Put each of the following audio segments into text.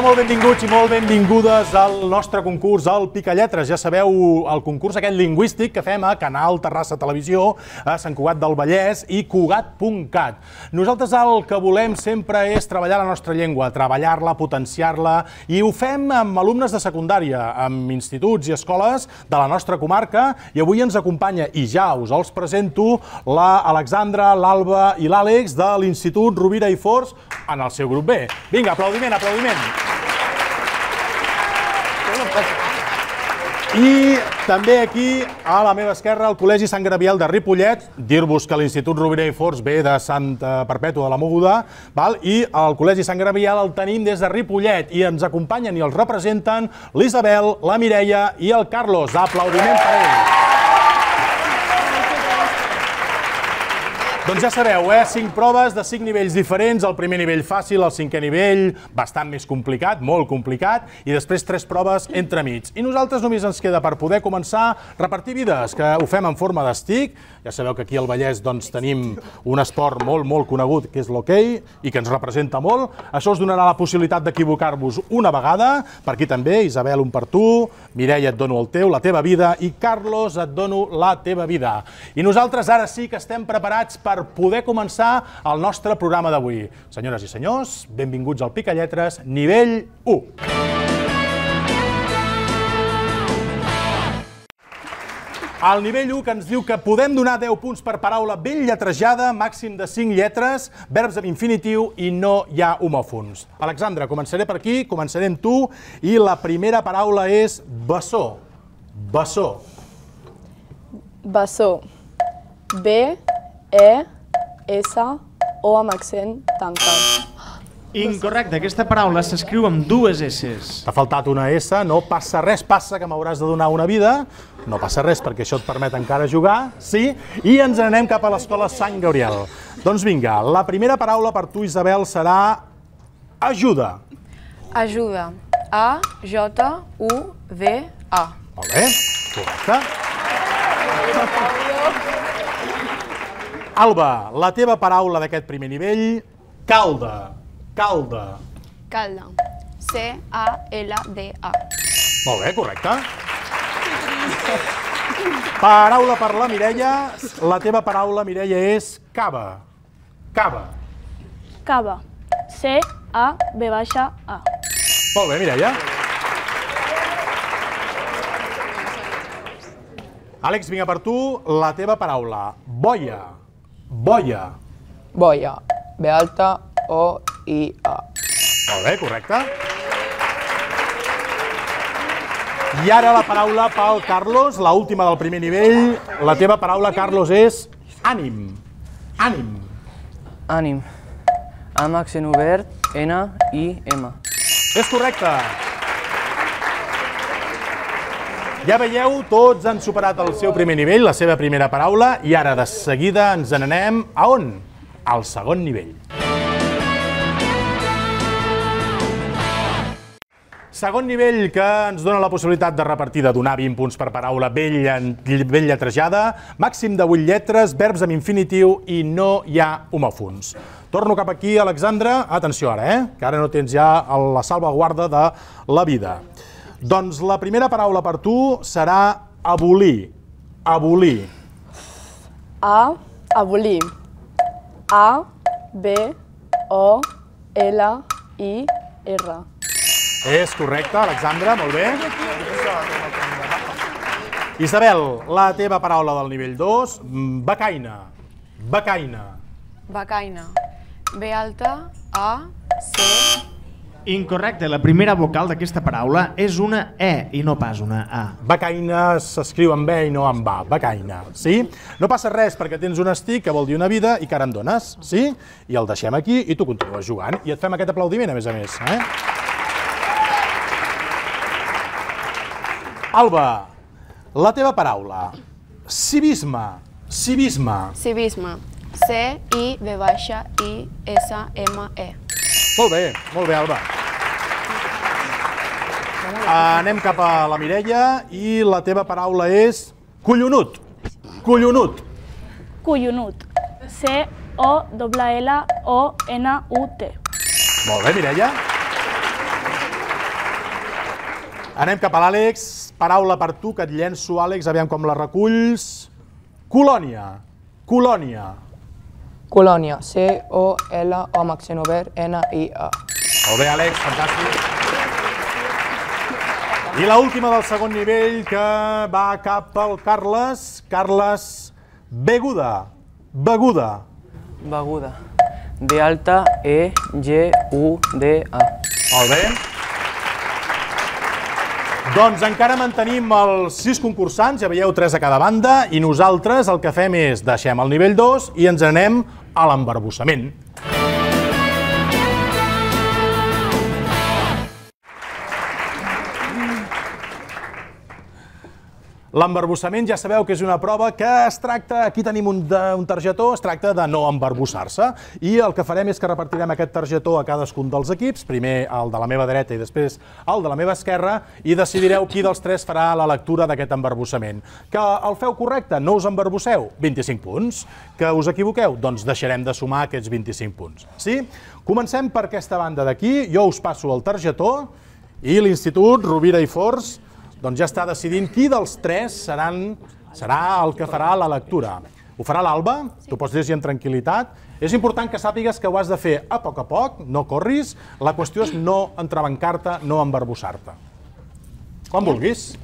molt benvinguts i molt benvingudes al nostre concurs, al Picalletres. Ja sabeu, el concurs aquest lingüístic que fem a Canal Terrassa Televisió, a Sant Cugat del Vallès i Cugat.cat. Nosaltres el que volem sempre és treballar la nostra llengua, treballar-la, potenciar-la, i ho fem amb alumnes de secundària, amb instituts i escoles de la nostra comarca, i avui ens acompanya, i ja us els presento, l'Alexandra, l'Alba i l'Àlex de l'Institut Rovira i Forns en el seu grup B. Vinga, aplaudiment, aplaudiment. I també aquí, a la meva esquerra, el Col·legi Sant Gabriel de Ripollet. Dir-vos que l'Institut Rovira i Forns ve de Santa Perpètua de la Mogoda, i el Col·legi Sant Gabriel el tenim des de Ripollet i ens acompanyen i els representen l'Isabel, la Mireia i el Carlos. Aplaudiment per ells. Doncs ja sabeu, 5 proves de 5 nivells diferents, el primer nivell fàcil, el 5è nivell bastant més complicat, molt complicat, i després 3 proves entremig. I nosaltres només ens queda per poder començar a repartir vides, que ho fem en forma d'estic. Ja sabeu que aquí al Vallès tenim un esport molt conegut, que és l'hoquei, i que ens representa molt. Això us donarà la possibilitat d'equivocar-vos una vegada. Per aquí també, Isabel, un per tu, Mireia, et dono el teu, la teva vida, i Carlos, et dono la teva vida. I nosaltres ara sí que estem preparats per poder començar el nostre programa d'avui. Senyores i senyors, benvinguts al Picalletres, nivell 1. El nivell 1 que ens diu que podem donar 10 punts per paraula ben lletrejada, màxim de 5 lletres, verbs amb infinitiu i no hi ha homòfons. Alexandra, començaré per aquí, començaré amb tu, i la primera paraula és bessó. Bessó. Bessó. B-E-S-O amb accent tancat. Incorrecte, aquesta paraula s'escriu amb 2 S's. T'ha faltat una S, no passa res, passa que m'hauràs de donar una vida. No passa res, perquè això et permet encara jugar, sí? I ens anem cap a l'escola Sant Gabriel. Doncs vinga, la primera paraula per tu, Isabel, serà ajuda. Ajuda. A-J-U-V-A. Molt bé, correcte. Alba, la teva paraula d'aquest primer nivell, calda. Calda. Calda. C-A-L-D-A. Molt bé, correcte. Paraula per la Mireia. La teva paraula, Mireia, és cava. Cava. Cava. C-A-V-A. Molt bé, Mireia. Àlex, vinga per tu, la teva paraula. Boia. Boia. Boia. B-alta-O-I-A. Molt bé, correcte. I ara la paraula pel Carlos, l'última del primer nivell. La teva paraula, Carlos, és ànim. Ànim. Ànim. Amb accent obert, N-I-M. És correcte. Ja veieu, tots han superat el seu primer nivell, la seva primera paraula, i ara de seguida ens n'anem a on? Al segon nivell. Segon nivell que ens dona la possibilitat de repartir, de donar 20 punts per paraula ben lletrejada, màxim de 8 lletres, verbs amb infinitiu i no hi ha homòfons. Torno cap aquí, Alexandra. Atenció ara, que ara no tens ja la salvaguarda de la vida. Doncs la primera paraula per tu serà abolir. Abolir. Abolir. A-B-O-L-I-R. És correcte, Alexandra, molt bé. Isabel, la teva paraula del nivell 2, becaina. Becaina. Becaina. B-alta-A-C. Incorrecte, la primera vocal d'aquesta paraula és una E i no pas una A. Becaina s'escriu amb E i no amb A. Becaina, sí? No passa res perquè tens un estic que vol dir una vida i que ara em dones, sí? I el deixem aquí i tu continues jugant. I et fem aquest aplaudiment, a més. Alba, la teva paraula. Civisme. Civisme. Civisme. C-I-V-I-S-M-E. Molt bé, Alba. Anem cap a la Mireia i la teva paraula és collonut. Collonut. Collonut. C-O-L-L-O-N-U-T. Molt bé, Mireia. Anem cap a l'Àlex. Paraula per tu, que et llenço, Àlex, aviam com la reculls. Colònia. Colònia. Colònia. C-O-L-O amb accent obert, N-I-A. Molt bé, Àlex, fantàstic. I l'última del segon nivell, que va cap al Carles. Carles, beguda. Beguda. Beguda. D alta, E-G-U-D-A. Molt bé. Doncs encara mantenim els 6 concursants, ja veieu 3 a cada banda, i nosaltres el que fem és deixem el nivell 2 i ens anem a l'embarbussament. L'embarbussament ja sabeu que és una prova que es tracta, aquí tenim un targetó, es tracta de no embarbussar-se, i el que farem és que repartirem aquest targetó a cadascun dels equips, primer el de la meva dreta i després el de la meva esquerra, i decidireu qui dels 3 farà la lectura d'aquest embarbussament. Que el feu correcte, no us embarbusseu, 25 punts. Que us equivoqueu, doncs deixarem de sumar aquests 25 punts. Sí? Comencem per aquesta banda d'aquí, jo us passo el targetó, i l'Institut Rovira i Forns doncs ja està decidint qui dels 3 serà el que farà la lectura. Ho farà l'Alba, tu pots llegir amb tranquil·litat. És important que sàpigues que ho has de fer a poc, no corris. La qüestió és no entrebancar-te, no embarbussar-te. Quan vulguis.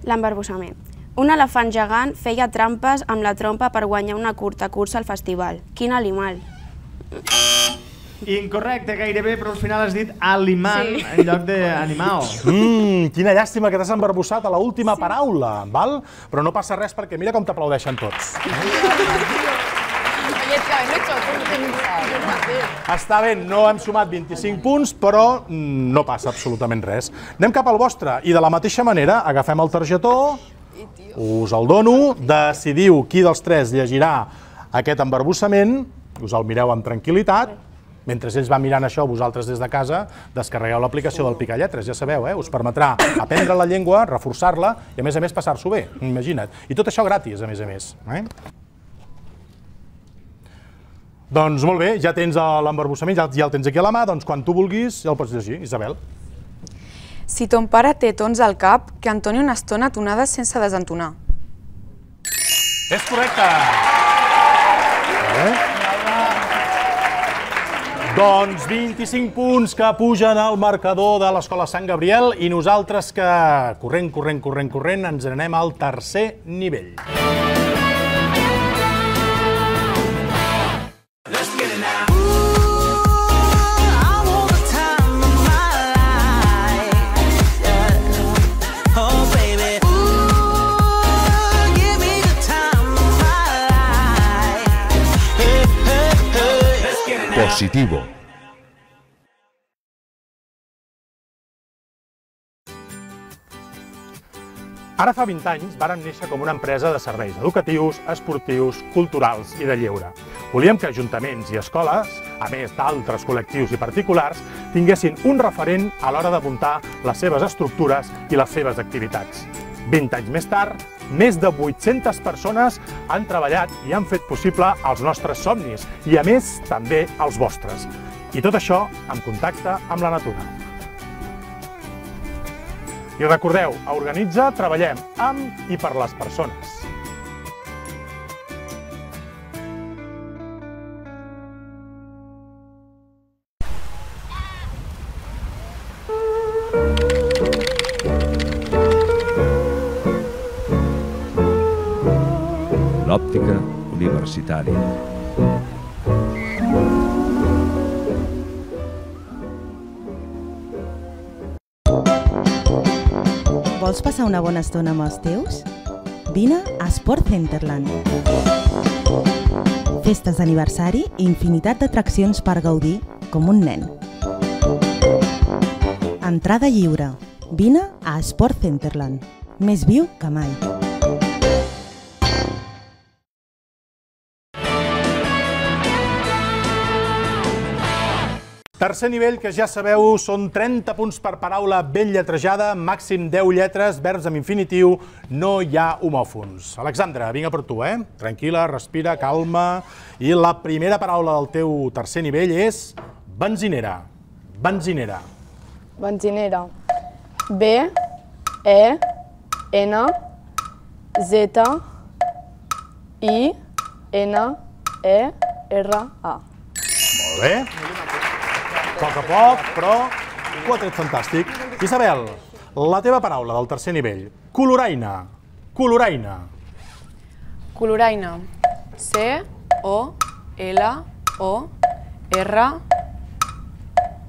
L'embarbussament. Un elefant gegant feia trampes amb la trompa per guanyar una curta cursa al festival. Quin animal? Incorrecte, gairebé, però al final has dit animal en lloc d'animal. Quina llàstima que t'has embarbussat a l'última paraula, val? Però no passa res perquè mira com t'aplaudeixen tots. Està bé, no hem sumat 25 punts, però no passa absolutament res. Anem cap al vostre i de la mateixa manera agafem el targetó, us el dono, decidiu qui dels 3 llegirà aquest embarbussament, us el mireu amb tranquil·litat. Mentre ells van mirant això, vosaltres des de casa descarregueu l'aplicació del Picalletres, ja sabeu, us permetrà aprendre la llengua, reforçar-la i a més passar-s'ho bé, imagina't. I tot això gratis, a més. Doncs molt bé, ja tens l'embarbussament, ja el tens aquí a la mà, doncs quan tu vulguis ja el pots llegir, Isabel. Si ton pare té tons al cap, que entoni una estona tonades sense desentonar. És correcte! Doncs 25 punts que pugen al marcador de l'Escola Sant Gabriel i nosaltres que, corrent, ens anem al tercer nivell. Positivo. Ara fa 20 anys vàrem néixer com una empresa de serveis educatius, esportius, culturals i de lleure. Volíem que ajuntaments i escoles, a més d'altres col·lectius i particulars, tinguessin un referent a l'hora de muntar les seves estructures i les seves activitats. 20 anys més tard, més de 800 persones han treballat i han fet possible els nostres somnis i, a més, també els vostres. I tot això en contacte amb la natura. I recordeu, a Organitza treballem amb i per les persones. L'òptica universitària. Vols passar una bona estona amb els teus? Vine a Sport Centerland. Festes d'aniversari i infinitat d'atraccions per gaudir com un nen. Entrada lliure. Vine a Sport Centerland. Més viu que mai. Tercer nivell, que ja sabeu, són 30 punts per paraula ben lletrejada, màxim 10 lletres, verbs amb infinitiu, no hi ha homòfons. Alexandra, vinga per tu, Tranquil·la, respira, calma. I la primera paraula del teu tercer nivell és benzinera. Benzinera. Benzinera. B, E, N, Z, I, N, E, R, A. Molt bé. A poc, però ho ha tret fantàstic. Isabel, la teva paraula del tercer nivell. Coloraina. Coloraina. Coloraina. C, O, L, O, R,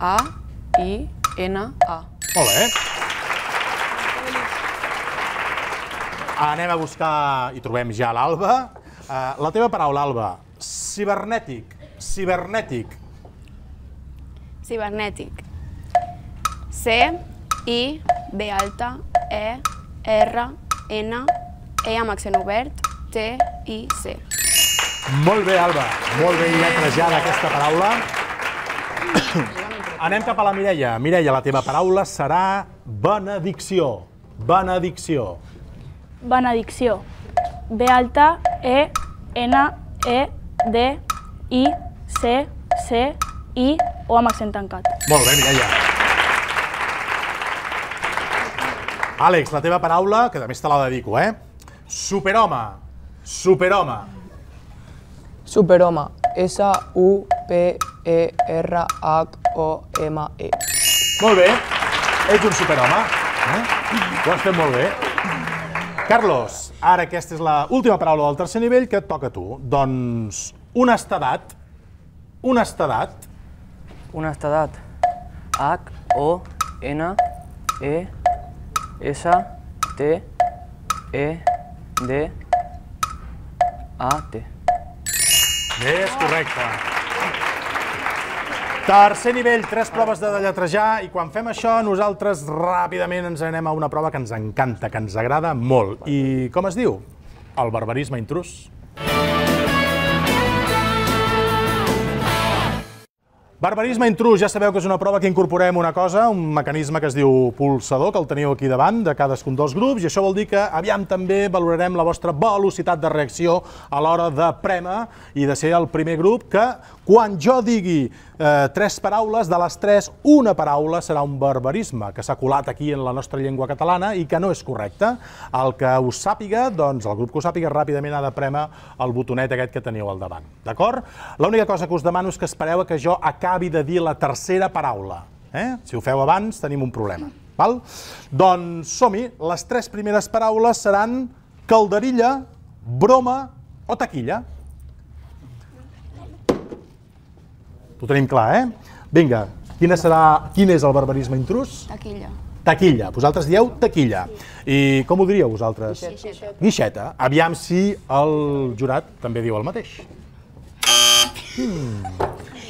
A, I, N, A. Molt bé. Anem a buscar, i trobem ja l'Alba. La teva paraula, Alba. Cibernètic. Cibernètic. Cibernètic. C, I, B alta, E, R, N, E amb accent obert, T, I, C. Molt bé, Alba. Molt ben lletrejada aquesta paraula. Anem cap a la Mireia. Mireia, la teva paraula serà benedicció. Benedicció. Benedicció. B alta, E, N, E, D, I, C, C, I, O amb accent tancat. Molt bé, Mireia. Àlex, la teva paraula, que també te la dedico, Superhome. Superhome. Superhome. S-U-P-E-R-H-O-M-E. Molt bé. Ets un superhome. Ho has fet molt bé. Carlos, ara aquesta és l'última paraula del tercer nivell que et toca a tu. Doncs, honestedat. Honestedat. Honestedat. H-O-N-E-S-T-E-D-A-T. Bé, és correcte. Tercer nivell, 3 proves de lletrejar, i quan fem això nosaltres ràpidament ens anem a una prova que ens encanta, que ens agrada molt. I com es diu? El barbarisme intrus. Barbarisme intrus, ja sabeu que és una prova que incorporem una cosa, un mecanisme que es diu pulsador, que el teniu aquí davant de cadascun dels grups, i això vol dir que aviam també valorarem la vostra velocitat de reacció a l'hora de prémer i de ser el primer grup que, quan jo digui 3 paraules, de les 3, una paraula serà un barbarisme que s'ha colat aquí en la nostra llengua catalana i que no és correcte. El que us sàpiga, doncs el grup que us sàpiga ràpidament ha de prémer el botonet aquest que teniu al davant. D'acord? L'única cosa que us demano és que espereu que jo acabi de dir la tercera paraula. Si ho feu abans, tenim un problema. Doncs som-hi. Les 3 primeres paraules seran calderilla, broma o taquilla. Ho tenim clar, Vinga, quin és el barbarisme intrus? Taquilla. Taquilla. Vosaltres dieu taquilla. I com ho diríeu vosaltres? Guixeta. Guixeta. Aviam si el jurat també diu el mateix.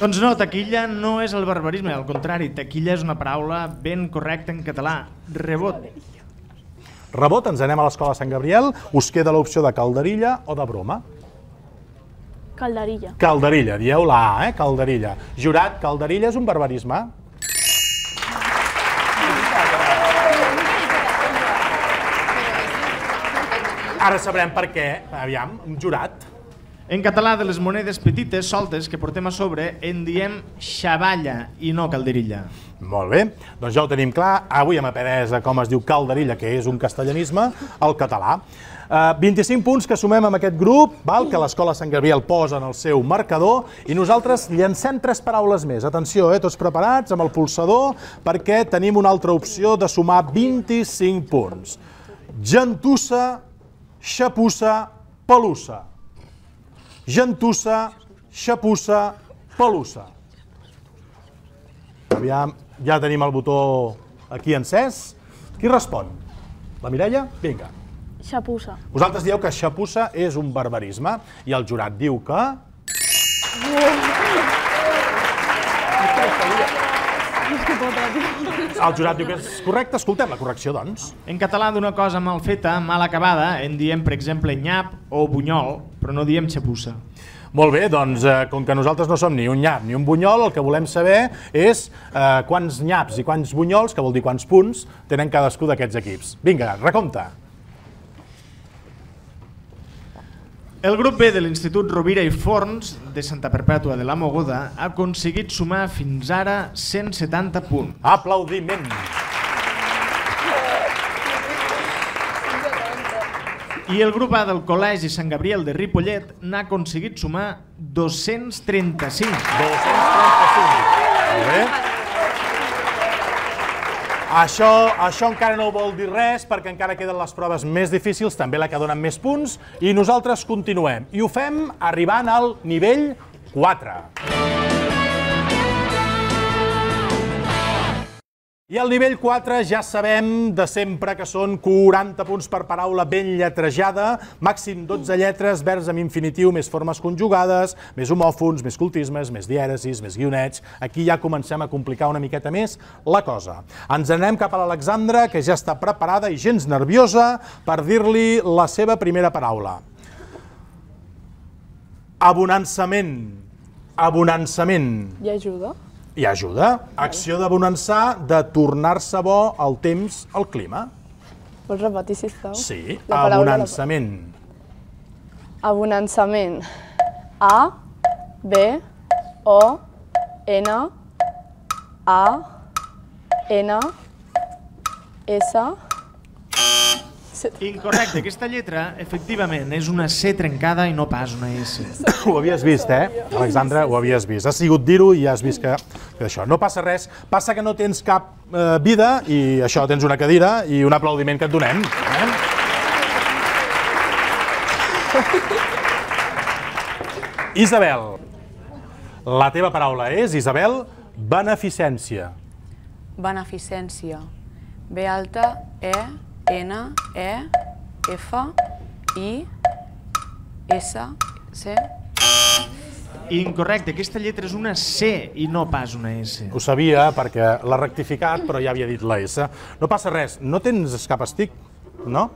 Doncs no, taquilla no és el barbarisme, al contrari, taquilla és una paraula ben correcta en català. Rebot. Rebot, ens anem a l'escola Sant Gabriel. Us queda l'opció de calderilla o de broma? Calderilla. Calderilla, dieu la A, calderilla. Jurat, calderilla és un barbarisme? Ara sabrem per què. Aviam, jurat. En català, de les monedes petites, soltes, que portem a sobre, en diem xavalla i no calderilla. Molt bé, doncs ja ho tenim clar. Avui hem après com es diu calderilla, que és un castellanisme, al català. 25 punts que sumem amb aquest grup, que l'Escola Sant Gabriel posa en el seu marcador, i nosaltres llancem 3 paraules més. Atenció, tots preparats amb el pulsador, perquè tenim una altra opció de sumar 25 punts. Gentussa, xapussa, pelussa. Gentussa, xapussa, pelussa. Aviam, ja tenim el botó aquí encès. Qui respon? La Mireia? Vinga. Xapussa. Vosaltres dieu que xapussa és un barbarisme i el jurat diu que... El jurat diu que és correcte. Escoltem la correcció, doncs. En català, d'una cosa mal feta, mal acabada, en diem, per exemple, nyap o bunyol, però no diem xapussa. Molt bé, doncs, com que nosaltres no som ni un nyap ni un bunyol, el que volem saber és quants nyaps i quants bunyols, que vol dir quants punts, tenen cadascú d'aquests equips. Vinga, recompte. El grup B de l'Institut Rovira i Forns de Santa Perpètua de la Mogoda ha aconseguit sumar fins ara 170 punts. Aplaudiment. I el grup A del Col·legi Sant Gabriel de Ripollet n'ha aconseguit sumar 235. 235. Molt bé. Això encara no vol dir res, perquè encara queden les proves més difícils, també la que donen més punts, i nosaltres continuem. I ho fem arribant al nivell 4. I al nivell 4 ja sabem de sempre que són 40 punts per paraula ben lletrejada, màxim 12 lletres, verbs amb infinitiu, més formes conjugades, més homòfons, més cultismes, més dièresis, més guionets. Aquí ja comencem a complicar una miqueta més la cosa. Ens anem cap a l'Alexandra, que ja està preparada i gens nerviosa per dir-li la seva primera paraula. Abonançament. Abonançament. I ajuda? I ajuda. Acció d'abonançar, de tornar-se bo el temps, el clima. Vols repetir, sisplau? Sí, abonançament. Abonançament. A, B, O, N, A, N, S... Incorrecte, aquesta lletra, efectivament, és una C trencada i no pas una S. Ho havies vist, Alexandra? Ho havies vist. Has sigut dir-ho i ja has vist que això. No passa res, passa que no tens cap vida i això, tens una cadira i un aplaudiment que et donem. Isabel, la teva paraula és, Isabel, beneficència. Beneficència. B alta, E, N, E, F, I, S, C. Incorrecte, aquesta lletra és una C i no pas una S. Ho sabia perquè l'ha rectificat, però ja havia dit la S. No passa res, no tens cap estic, no?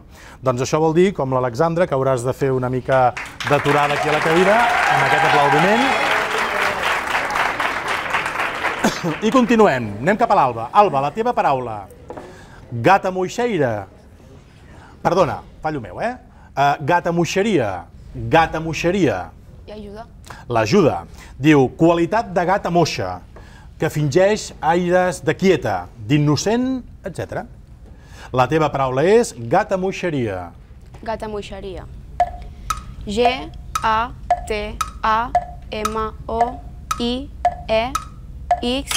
Doncs això vol dir, com l'Alexandra, que hauràs de fer una mica d'aturada aquí a la cadira, amb aquest aplaudiment. I continuem, anem cap a l'Alba. Alba, la teva paraula. Gata moixeira. Perdona, fallo meu, Gata moixeria. Gata moixeria. I ajuda. L'ajuda. Diu, qualitat de gata moixa, que fingeix aires de quieta, d'innocent, etc. La teva paraula és gata moixeria. Gata moixeria. G, A, T, A, M, O, I, E, X...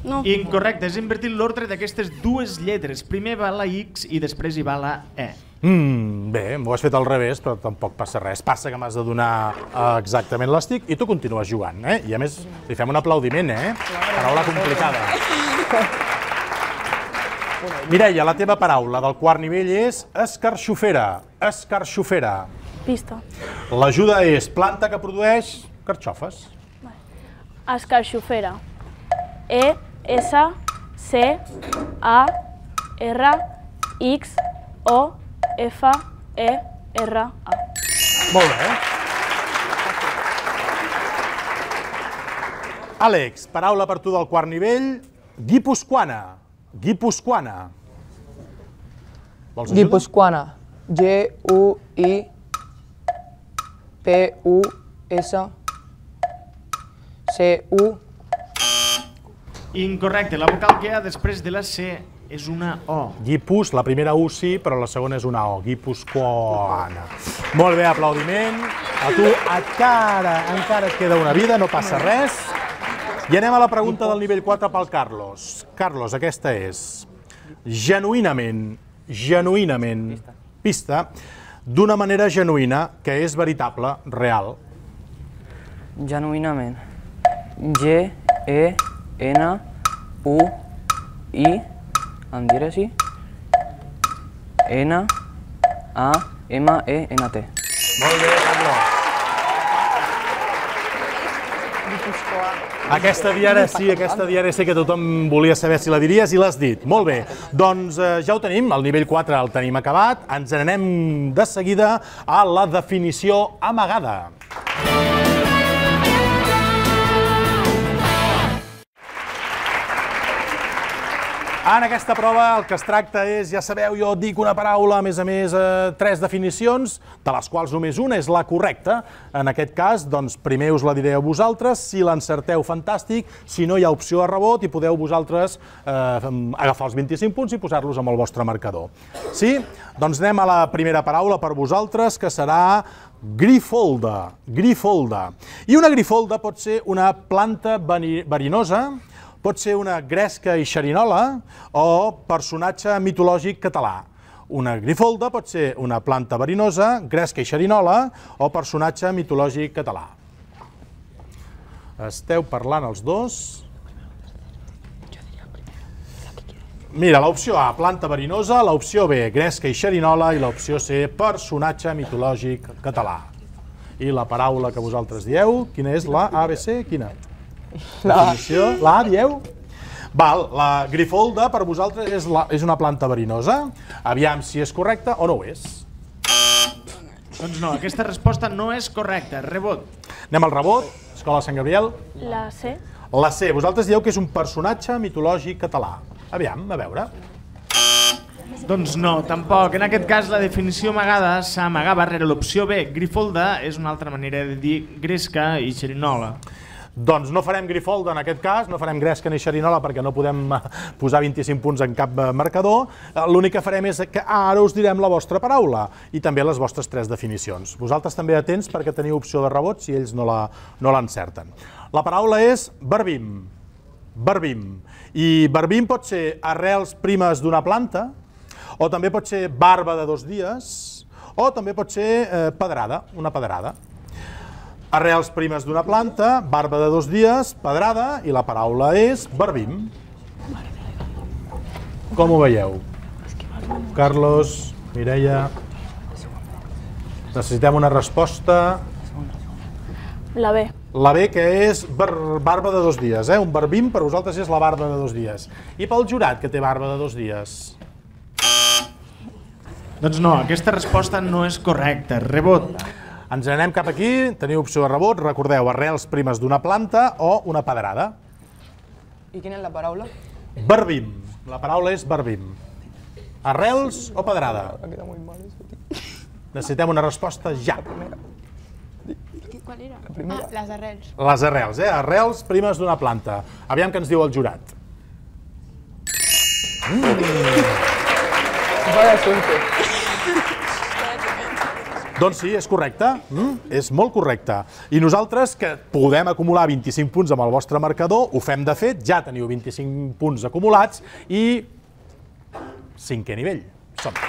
No. Incorrecte, has invertit l'ordre d'aquestes dues lletres. Primer va la X i després hi va la E. Bé, m'ho has fet al revés, però tampoc passa res. Passa que m'has de donar exactament l'estic i tu continues jugant, I a més, li fem un aplaudiment, Paraula complicada. Mireia, la teva paraula del quart nivell és escarxofera. Escarxofera. Pista. L'ajuda és planta que produeix carxofes. Escarxofera. E, S, C, A, R, X, O, F, E, R, A. Molt bé. Àlex, paraula per tu del quart nivell, guipuscoana. Guipuscoana. Vols ajuda? Guipuscoana. G-U-I-P-U-S-C-U. Incorrecte, la vocal que hi ha després de la C és una O. Guipus, la primera U sí, però la segona és una O. Guipuscoana. Molt bé, aplaudiment. A tu encara et queda una vida, no passa res. I anem a la pregunta del nivell 4 pel Carlos. Carlos, aquesta és genuïnament, pista, d'una manera genuïna, que és veritable, real. Genuïnament. G-E-N-U-I, amb dièresi, N-A-M-E-N-T. Molt bé, Carlos. Aquesta dièresi que tothom volia saber si la diries i l'has dit. Molt bé, doncs ja ho tenim, el nivell 4 el tenim acabat. Ens n'anem de seguida a la definició amagada. En aquesta prova el que es tracta és, ja sabeu, jo dic una paraula, a més, 3 definicions, de les quals només una és la correcta. En aquest cas, doncs, primer us la diré a vosaltres, si l'encerteu, fantàstic, si no hi ha opció de rebot i podeu vosaltres agafar els 25 punts i posar-los amb el vostre marcador. Sí? Doncs anem a la primera paraula per vosaltres, que serà grifolda. Grifolda. I una grifolda pot ser una planta verinosa, pot ser una gresca i xerinola o personatge mitològic català. Una grifolda pot ser una planta verinosa, gresca i xerinola o personatge mitològic català. Esteu parlant els dos. Mira, l'opció A, planta verinosa, l'opció B, gresca i xerinola i l'opció C, personatge mitològic català. I la paraula que vosaltres dieu, quina és? La A, B, C? Quina? Definició. La A, dieu? Val, la grifolda per vosaltres és una planta verinosa. Aviam si és correcta o no ho és. Doncs no, aquesta resposta no és correcta. Rebot. Anem al rebot. Escola Sant Gabriel. La C. La C. Vosaltres dieu que és un personatge mitològic català. Aviam, a veure. Doncs no, tampoc. En aquest cas, la definició amagada s'amagava rere l'opció B. Grifolda és una altra manera de dir gresca i xerinola. Doncs no farem grifolda en aquest cas, no farem gresca ni xerinola perquè no podem posar 25 punts en cap marcador. L'únic que farem és que ara us direm la vostra paraula i també les vostres 3 definicions. Vosaltres també atents perquè teniu opció de rebot si ells no l'encerten. La paraula és verbim. Verbim. I verbim pot ser arrels primes d'una planta, o també pot ser barba de 2 dies, o també pot ser pedrada, una pedrada. Arrels primes d'una planta, barba de 2 dies, pedrada, i la paraula és verbim. Com ho veieu? Carlos, Mireia... Necessitem una resposta... La B. La B, que és barba de 2 dies. Un verbim per vosaltres és la barba de 2 dies. I pel jurat, que té barba de 2 dies? Doncs no, aquesta resposta no és correcta. Rebot. Ens anem cap aquí, teniu opció de rebot, recordeu, arrels primes d'una planta o una pedrada. I quina és la paraula? Verbim. La paraula és verbim. Arrels o pedrada? Necessitem una resposta ja. Qual era? Ah, les arrels. Les arrels, arrels primes d'una planta. Aviam què ens diu el jurat. Doncs sí, és correcte. És molt correcte. I nosaltres, que podem acumular 25 punts amb el vostre marcador, ho fem de fet, ja teniu 25 punts acumulats i 5è nivell. Som-hi.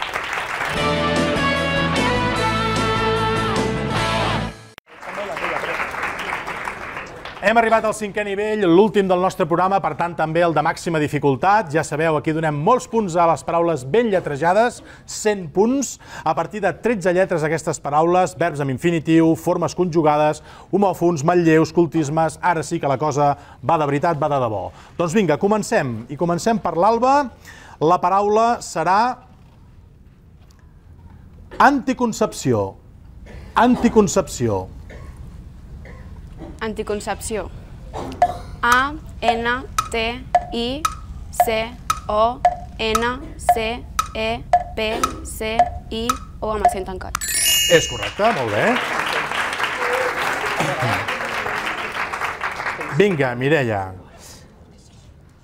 Hem arribat al 5è nivell, l'últim del nostre programa, per tant també el de màxima dificultat. Ja sabeu, aquí donem molts punts a les paraules ben lletrejades, 100 punts. A partir de 13 lletres aquestes paraules, verbs amb infinitiu, formes conjugades, homòfons, manlleus, cultismes... Ara sí que la cosa va de veritat, va de debò. Doncs vinga, comencem. I comencem per l'Alba. La paraula serà anticoncepció. Anticoncepció. Anticoncepció. A, N, T, I, C, O, N, C, E, P, C, I, O amb accent tancat. És correcte, molt bé. Vinga, Mireia.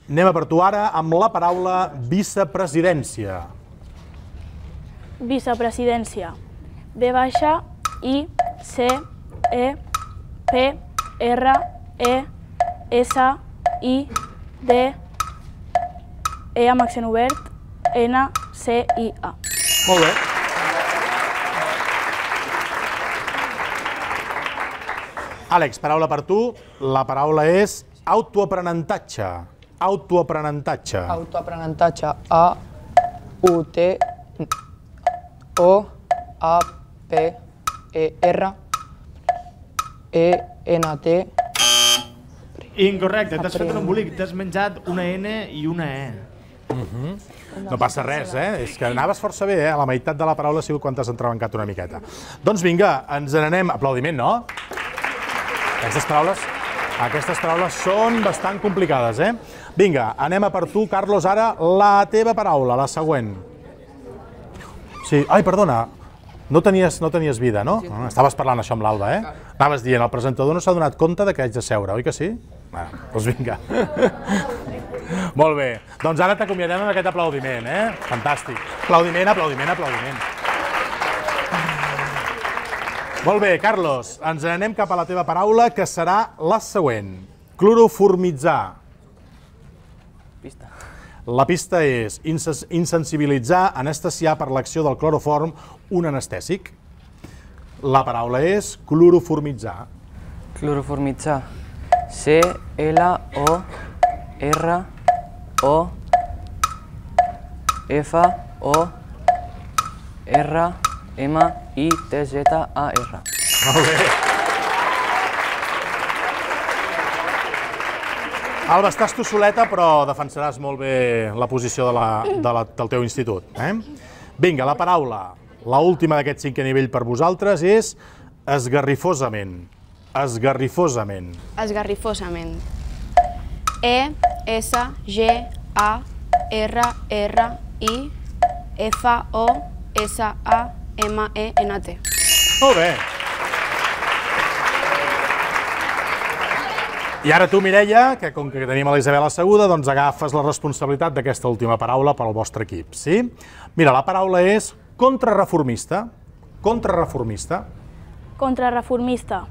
Anem a per tu ara amb la paraula vicepresidència. Vicepresidència. V baixa, I, C, E, P, R, E, S, I, D, E amb accent obert, N, C, I, A. Molt bé. Àlex, paraula per tu. La paraula és autoaprenentatge. Autoaprenentatge. Autoaprenentatge. A, U, T, O, A, P, E, R, E, N, T... Incorrecte, t'has fet un embolic, t'has menjat una N i una E. No passa res, És que anaves força bé, A la meitat de la paraula ha sigut quan t'has entrebancat una miqueta. Doncs vinga, ens n'anem... Aplaudiment, no? Aquestes paraules són bastant complicades, Vinga, anem a per tu, Carlos, ara la teva paraula, la següent. Sí, ai, perdona, no tenies vida, no? Estaves parlant això amb l'Alba, eh? Anaves dient, el presentador no s'ha donat compte que haig de seure, oi que sí? Doncs vinga. Molt bé, doncs ara t'acomiadem amb aquest aplaudiment, eh? Fantàstic. Aplaudiment, aplaudiment, aplaudiment. Molt bé, Carlos, ens anem cap a la teva paraula, que serà la següent. Cloroformitzar. La pista és insensibilitzar, anestesiar per l'acció del cloroform un anestèsic. La paraula és cloroformitzar. Cloroformitzar. C-L-O-R-O-F-O-R-M-I-T-Z-A-R. Molt bé. Alba, estàs tu soleta, però defensaràs molt bé la posició del teu institut. Vinga, la paraula, l'última d'aquest cinquè nivell per vosaltres, és esgarrifosament. Esgarrifosament. Esgarrifosament. E-S-G-A-R-R-I-F-O-S-A-M-E-N-T. Molt bé. I ara tu, Mireia, que com que tenim a la Isabel asseguda, doncs agafes la responsabilitat d'aquesta última paraula per al vostre equip, sí? Mira, la paraula és contrarreformista. Contrarreformista. Contrarreformista.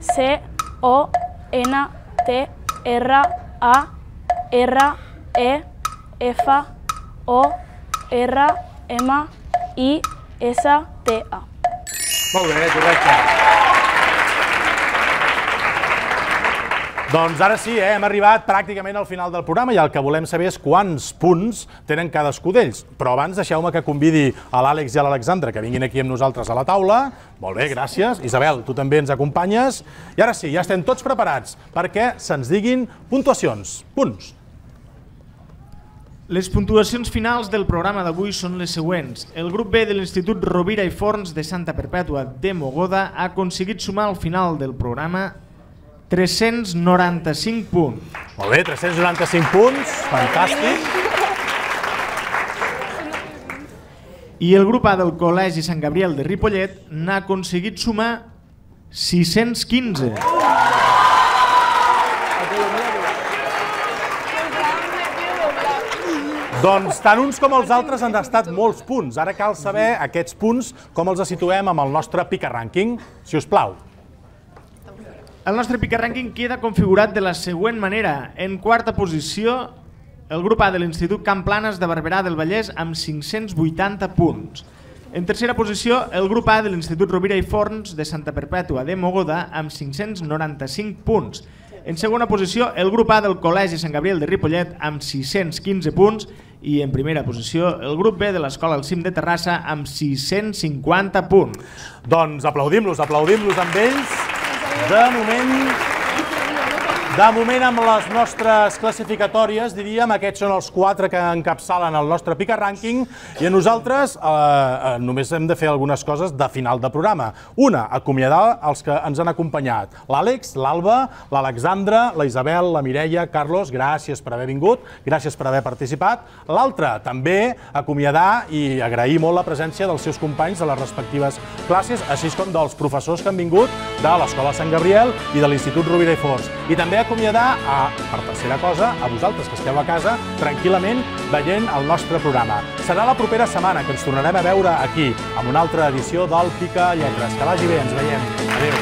C-O-N-T-R-A-R-E-F-O-R-M-I-S-T-A. Molt bé, correcte. Doncs ara sí, hem arribat pràcticament al final del programa i el que volem saber és quants punts tenen cadascú d'ells. Però abans deixeu-me que convidi a l'Àlex i a l'Alexandra que vinguin aquí amb nosaltres a la taula. Molt bé, gràcies. Isabel, tu també ens acompanyes. I ara sí, ja estem tots preparats perquè se'ns diguin puntuacions. Punts. Les puntuacions finals del programa d'avui són les següents. El grup B de l'Institut Rovira i Forns de Santa Perpètua de Mogoda ha aconseguit sumar al final del programa 395 punts. Molt bé, 395 punts, fantàstic. I el grup A del Col·legi Sant Gabriel de Ripollet n'ha aconseguit sumar 615. Doncs tant uns com els altres han estat molts punts. Ara cal saber aquests punts com els situem amb el nostre Pica Rànquing, si us plau. El nostre Pica Rànquing queda configurat de la següent manera. En quarta posició, el grup A de l'Institut Camp Planes de Barberà del Vallès amb 580 punts. En tercera posició, el grup A de l'Institut Rovira i Forns de Santa Perpètua de Mogoda amb 595 punts. En segona posició, el grup A del Col·legi Sant Gabriel de Ripollet amb 615 punts i en primera posició, el grup B de l'Escola El Cim de Terrassa amb 650 punts. Doncs aplaudim-los amb ells. De moment amb les nostres classificatòries, diríem, aquests són els 4 que encapçalen el nostre Pica Rànquing i a nosaltres només hem de fer algunes coses de final de programa. Una, acomiadar els que ens han acompanyat. L'Àlex, l'Alba, l'Alexandra, la Isabel, la Mireia, Carlos, gràcies per haver vingut, gràcies per haver participat. L'altra, també acomiadar i agrair molt la presència dels seus companys de les respectives classes, així com dels professors que han vingut de l'Escola Sant Gabriel i de l'Institut Rovira i Forns. I també acomiadar, per tercera cosa, a vosaltres que esteu a casa tranquil·lament veient el nostre programa. Serà la propera setmana que ens tornarem a veure aquí amb una altra edició del Pica Lletres. Que vagi bé, ens veiem. Adéu.